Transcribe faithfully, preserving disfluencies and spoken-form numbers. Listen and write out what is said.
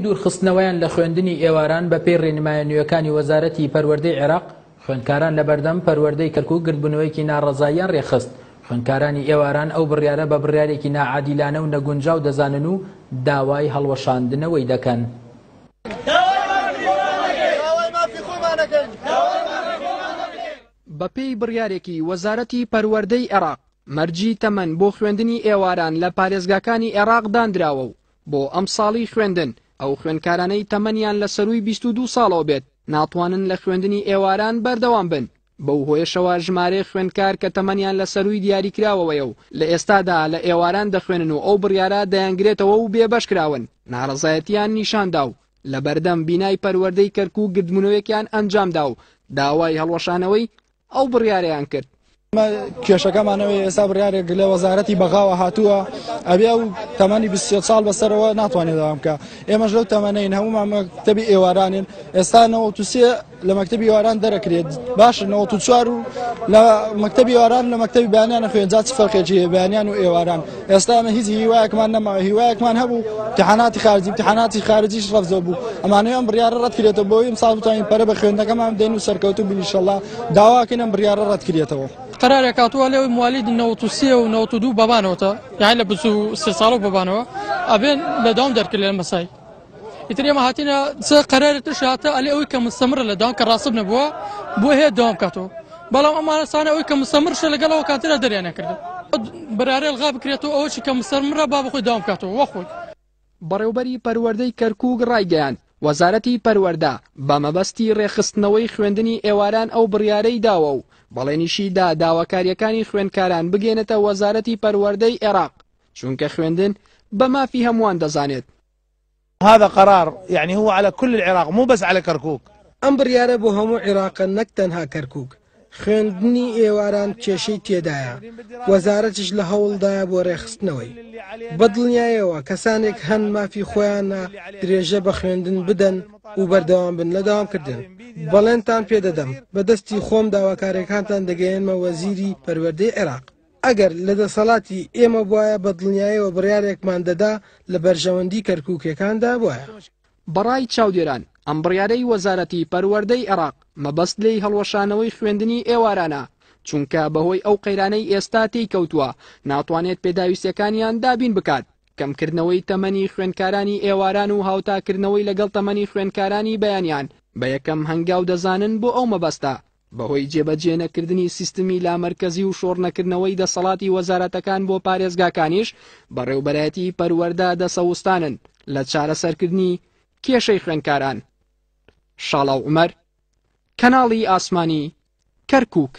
دوورخستنەوەیان لە خوێندنی ئێواران بەپێی ڕێنمایە نوێکانی وەزارەتی پەروەردەی عێراق، خوێندکاران لەبەردەم پەروەردەی کەرکوک گردبوونەوەیەکی ناڕەزاییان ڕێکخست. خوێندکارانی ئێواران ئەو بڕیارە بە بڕیارێکی ناعادیلانە و نەگونجاو دەزانن و داوای هەڵوەشاندنەوەی دەکەن. بەپێی بڕیارێکی وەزارەتی پەروەردەی عێراق، مەرجی تەمەن بۆ خوێندنی ئێواران لە پارێزگاکانی عێراق دانراوە و بۆ ئەم ساڵی خوێندن ئەو خوێندکارانەی تەمەنیان لە سەرووی بیست و دوو ساڵەوە بێت ناتوانن لە خوێندنی ئێواران بەردەوام بن. بەو هۆیەشەوە ژمارەی خوێندکار کە تەمەنیان لە سەرووی دیاریکراوەوەیە و لە ئێستادا لە ئێواران دەخوێنن و ئەو بڕیارە دەیانگرێتەوە و بێبەش کراون، ناڕەزایەتیان نیشاندا و لە بەردەم بینای پەروەردەی کەرکوک گردبوونەوەیەکیان ئەنجامدا و داوای هەڵوەشانەوەی ئەو بڕیارەیان کرد. کێشەکەمانەوەی ئێستا بڕیارێک لە وەزارەتی بەغاوە هاتووە ئەبێ ئەو تەمەنی بیست و سێ ساڵ بەسەرەوە ناتوانێت داوام بکە. ئێمەش لەو تەمەنەین، هەمومان مەکتەبی ئێوارانین. ئێستا نەوەت و سێ لە مەکتەبی ئێواران دەرەکرێت، باشە نەوەت و چوار و لە مەکتەبی ئێواران لە مەکتەبی بەیانیان خوێن، جا چ فەرقێکی هەیە بەیانیان و ئێواران؟ ئێستا ئێمە هیچ هیوایەکمان نەماوە. هیوایەکمان هەبوو امتحاناتی خارجی، امتحاناتی خارجیش ڕەفزەوە بوو. ئەمانەوە ئەم بڕیارە ڕەت کرێتەوە بۆ ئەم ساڵ بتوانین پەرە بە خوێندنەکەمان بدەین و سەرکەوتوو بین ئینشەڵڵا. داواکەین ئەم بڕیارە ڕەت کرێتەوە. قرارێک هاتووە لێ موالید نەوەت و سێ و نەوەت و دوو بەبانەوەتە، یعنی لە بیست و سێ ساڵەوە بەبانەوە ئەبێن لە داوام دەرکرد لە مەسای. ئیتر ئێمە هاتینە چ قەرارێک ترش هاتە ئەلێ ئەوەی کە مستەمرە لە داوام کە ڕاستب نەبووە بۆ هەیە داوام بکاتەوە، بەڵام ئەمانە سانە ئەوەی کە مستەمرشە لەگەڵ ئەو کاترە دەریان نەکردن. بڕیارە ئەلغا بکرێتەوە ئەوەی کە مستەمرە با بەخۆی داوام بکاتەوە وەخۆی. بەڕێوبەری پەروەردەی کەرکوک ڕایگەیاند وەزارەتی پەروەردە بە مەبەستی ڕێکخستنەوەی خوێندنی ئێواران ئەو بڕیارەی داوە و بەڵێنیشی دا داواکاریەکانی خوێندکاران بگەێنێتە وەزارەتی پەروەردەی عێراق، چونکە خوێندن بە مافی هەمووان دەزانێت. هذا قرار يعني هو على كل العراق مو بس على كركوك. ئەم بڕیارە بۆ هەموو عێراقە نەک تەنها کەرکوک. خوێندنی ئێواران کێشەی تێدایە، وەزارەتیش لە هەوڵدایە بۆ ڕێخستنەوەی. بەدڵنیایەوە کەسانێک هەن مافی خۆیانە درێژە بە خوێندن بدەن و بەردەوام بن لە داوامکردن. بەڵێنتان پێدەدەم بەدەستی خۆم داواکاریەکانتان دەگەیەنمە وەزیری پەروەردەی عێراق. ئەگەر لە دەسەڵاتی ئێمە بواە بەدڵنیایەوە بڕیارێکمان دەدا لە بەرژەوەندی کەرکوکیەکاندا بواە. بەڕای چاودێران ئەم بڕیارەی وەزارەتی پەروەردەی عێراق مەبەست لێی هەڵوەشانەوەی خوێندنی ئێوارانە، چونکە بەهۆی ئەو قەیرانەی ئێستا تێی کەوتووە ناتوانێت پێداویستیەکانیان دابین بکات. کەمکردنەوەی تەمەنی خوێندکارانی ئێواران و هاوتاکردنەوەی لەگەڵ تەمەنی خوێندکارانی بەیانیان بە یەکەم هەنگاو دەزانن بۆ ئەو مەبەستە. بەهۆی جێبەجێ نەکردنی سیستمی لامەرکەزی و شۆڕنەکردنەوەی دەسەڵاتی وەزارەتەکان بۆ پارێزگاکانیش بەڕێوبەرایەتی پەروەردە دەسەوستانن لە چارەسەرکردنی کێشەی خوێندکاران. شاڵاو عومەر، کەناڵی ئاسمانی، کەرکوک.